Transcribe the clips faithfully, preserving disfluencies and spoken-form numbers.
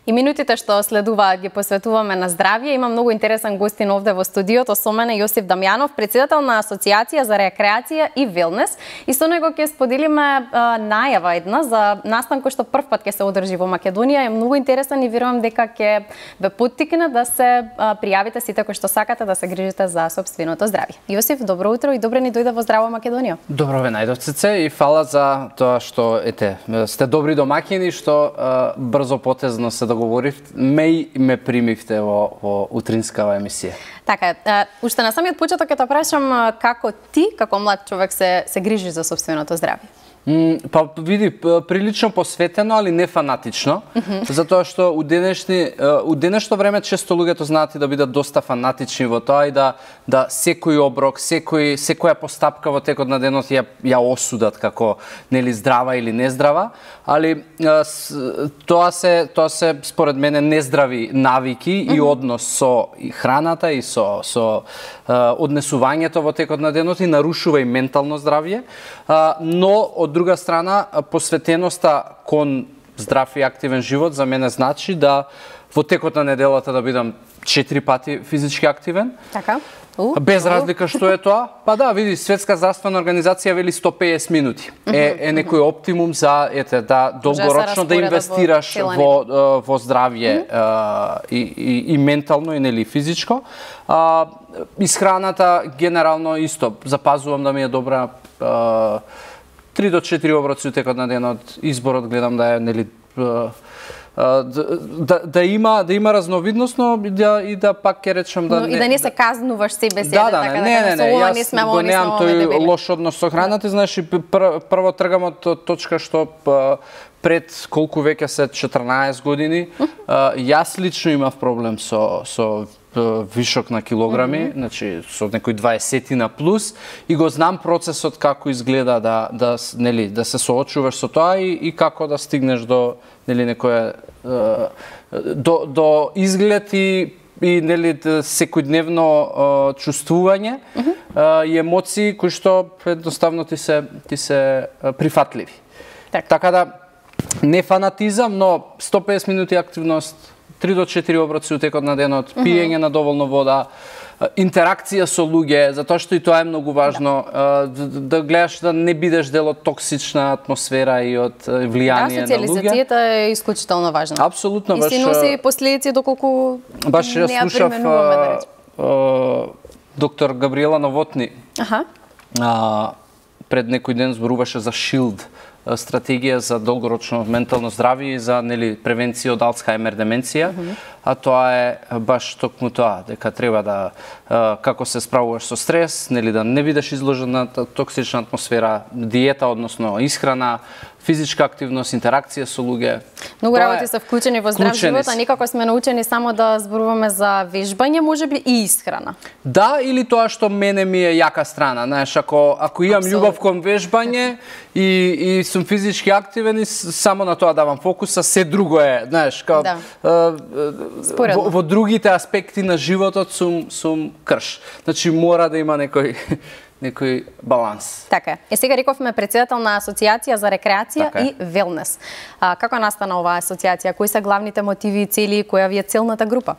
И минутите што следуваат ги посветуваме на здравје. Има многу интересен гостин овде во студиото со мене Јосиф Дамјанов, председател на Асоциација за рекреација и велнес. И со него ќе споделиме а, најава една за настан кој што прв пат ќе се одржи во Македонија. Е многу интересен и верувам дека ќе ве поттикне да се а, пријавите сите кои што сакате да се грижите за сопственото здравје. Јосиф, добро утро и добре ни дојде во Здраво Македонија. Добро ве најдов, Цеце, и фала за тоа што ете, сте добри домаќини, што а, брзо потезно се договоривте, ме и ме примивте во, во утринскава емисија. Така е. Уште на самиот почеток ќе те прашам како ти, како млад човек, се се грижиш за сопственото здравје. Mm, па види, прилично посветено, али не фанатично, mm -hmm. затоа што у денешни у денешно време често луѓето знаат и да бидат доста фанатични во тоа и да да секој оброк, секој секоја постапка во текот на денот ја ја осудат како нели здрава или нездрава, али тоа се тоа се според мене нездрави навики mm -hmm. и однос со и храната и со со однесувањето во текот на денот и нарушува и ментално здравје, но од друга страна посветеноста кон здрав и активен живот за мене значи да во текот на неделата да бидам четири пати физички активен. Така. У, без разлика што е тоа. Па да, види, Светска здравствена организација вели сто педесет минути. Е е некој оптимум за ете да долгорочно да инвестираш во во, во здравје mm -hmm. и, и и ментално и нели физичко. А, исхраната генерално исто запазувам да ми е добра. А, три до четири оброци текот на денот, изборот гледам да е нели да, да, да има да има разновидност, но и да и да пак ќе речам да но, не, и да не се казнуваш себе себе, да, да, така не, да не, не, не, ова јас не смеам, го не немам тој лош однос со храната, знаеш, пр, прво тргам од точка што пред колку веќе се четрнаесет години, јас лично имав проблем со со вишок на килограми, mm -hmm. значи со некој дваесет плюс, и го знам процесот како изгледа да да нели да се соочуваш со тоа и, и како да стигнеш до нели некоја до до изглед и и нели секојдневно чувствување mm -hmm. и емоции кои што едноставно ти се ти се прифатливи. Так. Така да не фанатизам, но сто педесет минути активност, три до четири оброци у текот на денот, mm -hmm. пиење на доволно вода, интеракција со луѓе, затоа што и тоа е многу важно, да, да гледаш да не бидеш дел од токсична атмосфера и од влијание да, на луѓе. Да, социјализацијата е исклучително важна. Апсолутно, и баш. И си носи последици доколку баш не ја слушав применуваме, да речем. Доктор Габриела Новотни. Аха. А, пред некој ден зборуваше за шилд, стратегија за долгорочно ментално здравје и за нели превенција од Алцхаймер деменција, mm -hmm. а тоа е баш токму тоа, дека треба да како се справуваш со стрес, нели да не бидеш изложен на токсична атмосфера, диета, односно исхрана, физичка активност, интеракција со луѓе. Многу работи се вклучени во здрав живот, а некако сме научени само да зборуваме за вежбање, можеби и исхрана. Да, или тоа што мене ми е јака страна, знаеш, ако ако имам Абсолютно. љубов кон вежбање и и сум физички активен и само на тоа давам фокуса, се друго е, знаеш, као да. во, во другите аспекти на животот сум сум крш. Значи мора да има некој некој баланс. Така е. Е сега рековме председател на Асоциација за рекреација така и велнес. А, како настана оваа асоциација? Кои се главните мотиви и цели, која ви е целната група?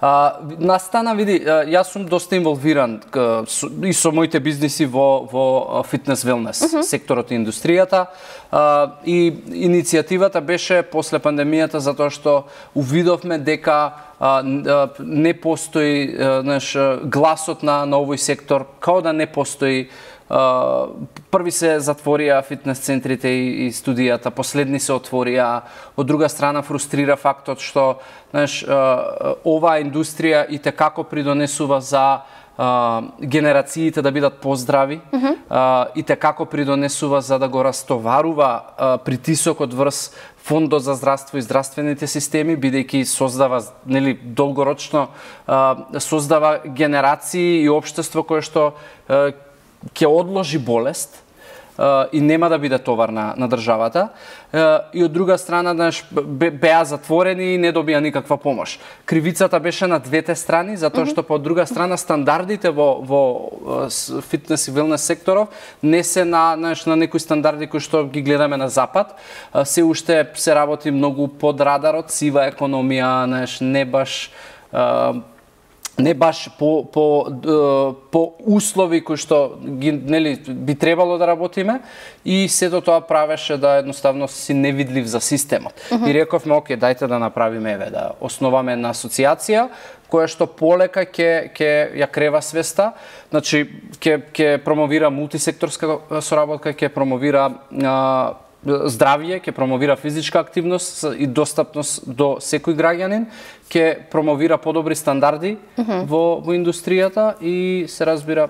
А, настана, види, јас сум доста инволвиран и со моите бизниси во во фитнес велнес, uh -huh. секторот и индустријата. А, и иницијативата беше после пандемијата затоа што увидовме дека а, не постои знаеш, гласот на, на овој сектор, као да не постои. Uh, први се затворија фитнес центрите и, и студијата, последни се отворија. Од друга страна фрустрира фактот што знаеш, uh, оваа индустрија и те како придонесува за uh, генерациите да бидат поздрави, mm -hmm. uh, и те како придонесува за да го растоварува uh, притисокот врз Фондот за здравство и здравствените системи, бидејќи создава нели долгорочно uh, создава генерации и општество кое што uh, ќе одложи болест, и нема да биде товар на, на државата. И од друга страна, знаеш, беа затворени и не добија никаква помош. Кривицата беше на двете страни, затоа што по друга страна стандардите во, во фитнес и велнес секторов не се на, знаеш, на некои стандарди кои што ги гледаме на запад. Се уште се работи многу под радарот, сива економија, знаеш, не баш не баш по по по услови кои што ги, нели, би требало да работиме, и сето тоа правеше да едноставно си невидлив за системот. Uh -huh. И рековме, оке, дајте да направиме, еве, да основаме една асоциација која што полека ќе ќе ја крева свеста, значи ќе ќе промовира мултисекторска соработка, ќе промовира а, здравје, ќе промовира физичка активност и достапност до секој граѓанин, ќе промовира подобри стандарди uh -huh. во, во индустријата и се разбира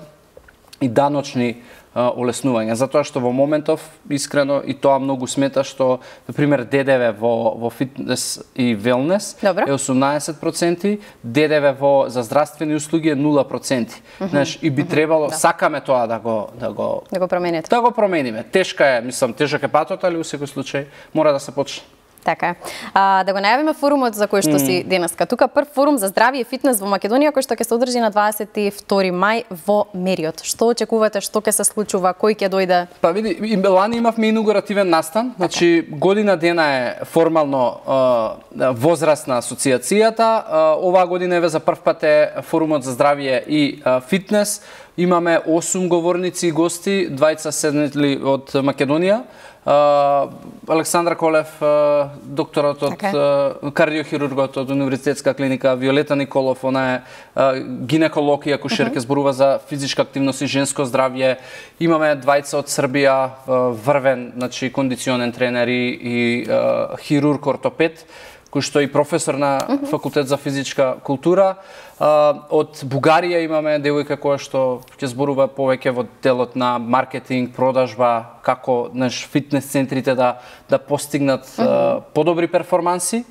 и даночни а, олеснувања. Затоа што во моментов, искрено, и тоа многу смета што, например, Д Д В во, во фитнес и велнес Добре. Е осумнаесет проценти, Д Д В во за здравствени услуги е нула проценти. Uh -huh. Знаеш, и би требало, uh -huh. да. сакаме тоа да го да го да го промените. Да го промениме. Тешка е, мислам, тежок е патот, али во секој случај мора да се почне. Така е. А, да го најавиме форумот за кој што mm. си денеска. Тука прв форум за здравје и фитнес во Македонија кој што ќе се одржи на дваесет и втори мај во Мериот. Што очекувате, што ќе се случува, кој ќе дојде? Па види, и лани имавме инаугуративен настан, значи година дена е формално е, возрастна асоциацијата. Оваа година еве за прв пат е форумот за здравје и е, фитнес. Имаме осум говорници и гости, двајца седнали од Македонија. Uh, Александра Колев, uh, докторот од okay. uh, кардиохирургот од Универзитетска клиника, Виолета Николов, она е uh, гинеколог и акушер, ќе uh -huh. зборува за физичка активност и женско здравје. Имаме двајца од Србија, uh, врвен, значи кондиционен тренер и, и uh, хирург ортопед, кој што е и професор на uh -huh. факултет за физичка култура. Uh, од Бугарија имаме девојка која што ќе зборува повеќе во делот на маркетинг, продажба, како наш фитнес центрите да да постигнат uh -huh. uh, подобри перформанси.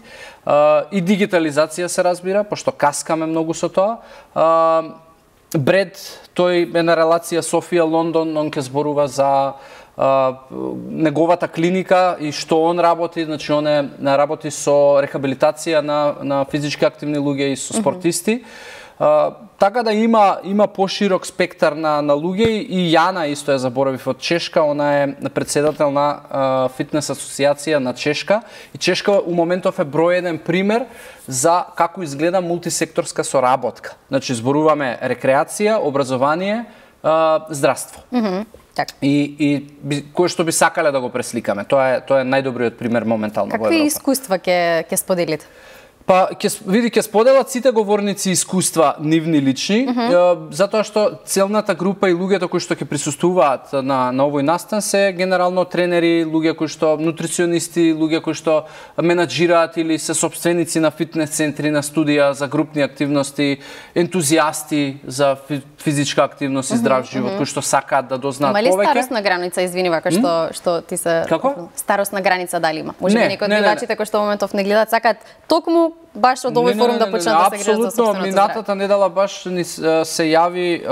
Uh, и дигитализација се разбира, пошто каскаме многу со тоа. Uh, Бред, тој е на релација Софија-Лондон, он ќе зборува за Uh, неговата клиника и што он работи, значи он е работи со рехабилитација на на физички активни луѓе и со спортисти. Uh, така да има има поширок спектар на на луѓе, и Јана исто е заборавив од Чешка, она е председател на uh, фитнес асоциација на Чешка, и Чешка у моментов е број еден пример за како изгледа мултисекторска соработка. Значи зборуваме рекреација, образование, uh, здравство. Mm -hmm. Така. И, и кој што би сакале да го пресликаме. Тоа е тоа е најдобриот пример моментално во Европа. Какви искуства ќе ќе споделите? Па, ќе, види, ќе споделат сите говорници искуства нивни лични, uh -huh. затоа што целната група и луѓето кои што ќе присуствуваат на, на овој настан се генерално тренери, луѓе кои што нутриционисти, луѓе кои што менаџираат или се собственици на фитнес центри, на студија за групни активности, ентузијасти за физичка активност и здрав живот, uh -huh. кои што сакаат да дознаат повеќе. Има ли старосна граница, извини, вака што mm? што ти се Како? Старосна граница дали има? Може би некои од гледачите кои што во моментов не гледаат сакаат токму баш од овој форум да почнат да се грижат за собственото здравје. Минатата недела баш ни се јави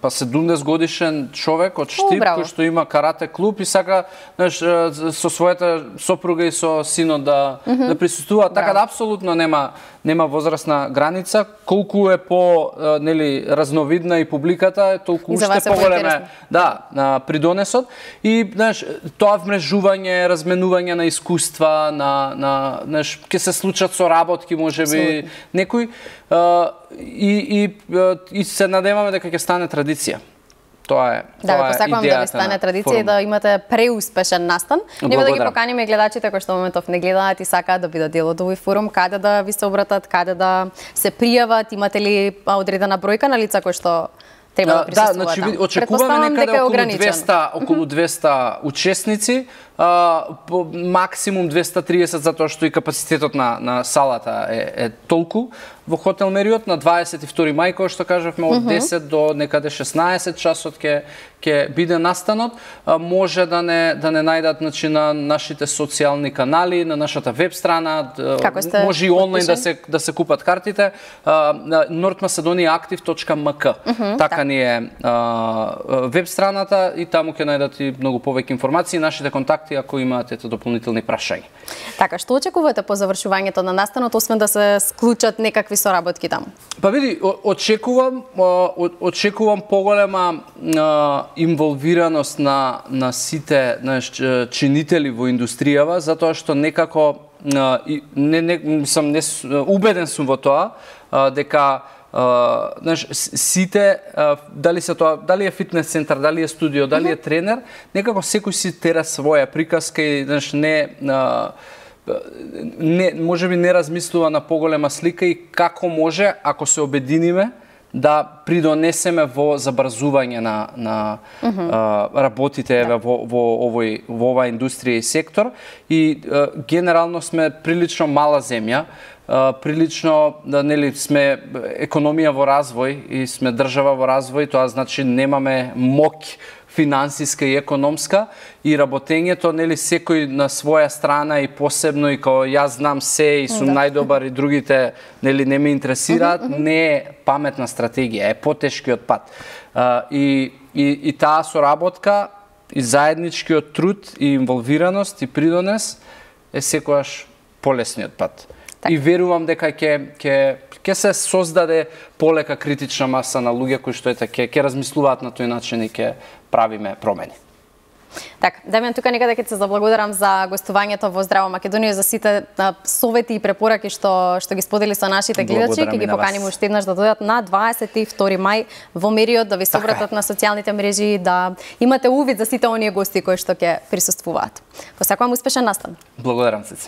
па седумдесет годишен човек од Штип кој што има карате клуб и сака, знаеш, со својата сопруга и со синот да mm -hmm. да присуствува, така да апсолутно нема нема возрастна граница. Колку е по нели разновидна и публиката, толку уште поголеме да на придонесот, и знаеш тоа вмрежување, разменување на искуства, на на знаеш ќе се случат со работки, можеби некои, и и и се надеваме дека ќе стане традиција. Тоа е, да, тоа е посакувам да ви стане традиција и да имате преуспешен настан. Нема да ги поканиме гледачите кои што во моментов не гледаат и сакаат да бидат дел од овој форум, каде да ви се обратат, каде да се пријават, имате ли одредена бројка на лица кои што треба да присуствуваат? Да, значи очекуваме некаде околу двеста, околу двеста учесници. по максимум двесте и триесет затоа што и капацитетот на на салата е е толку во хотел Мериот. На дваесет и втори мај, кој што кажавме, од десет до некаде шеснаесет часот ќе ќе биде настанот. Може да не да не најдат, значи, на нашите социјални канали, на нашата веб страна, може и онлайн да се да се купат картите. North Macedonia Active точка ем ка. Така ни е веб страната и таму ќе најдат и многу повеќе информации, нашите контакти ако имаат ете дополнителни прашања. Така, што очекувате по завршувањето на настанот, освен да се склучат некакви соработки таму? Па види, очекувам очекувам поголема инволвираност на на сите знаеш, чинители во индустријава, затоа што некако не не сум не убеден сум во тоа дека Uh, знаеш, сите, uh, дали се тоа, дали е фитнес центар, дали е студио, дали е тренер, некако секој си тера своја приказка и знаеш, не, uh, не можеби не размислува на поголема слика и како може, ако се обединиме, да придонесеме во забрзување на на uh -huh. uh, работите да. во во овој во оваа индустрија и сектор и uh, генерално сме прилично мала земја. Uh, прилично, да, нели, сме економија во развој и сме држава во развој, тоа значи немаме моќ финансиска и економска и работењето, нели, секој на своја страна и посебно и као јас знам се и сум да. најдобар и другите, нели, не ме интересираат, uh -huh, uh -huh. не е паметна стратегија, е потешкиот пат. Uh, и, и, и таа соработка и заедничкиот труд и инволвираност и придонес е секогаш полесниот пат. И верувам дека ќе ќе ќе се создаде полека критична маса на луѓе кои што ете ќе ќе размислуваат на тој начин и ќе правиме промени. Така, Дамјан, тука некаде ќе се заблагодарам за гостувањето во Здраво Македонија, за сите совети и препораки што што ги сподели со нашите гледачи, ќе ги поканим уште еднаш да дојдат на дваесет и втори мај во Мериот, да ви се обратат на социјалните мрежи, да имате увид за сите оние гости кои што ќе присуствуваат. Посакувам успешен настан. Благодарам се.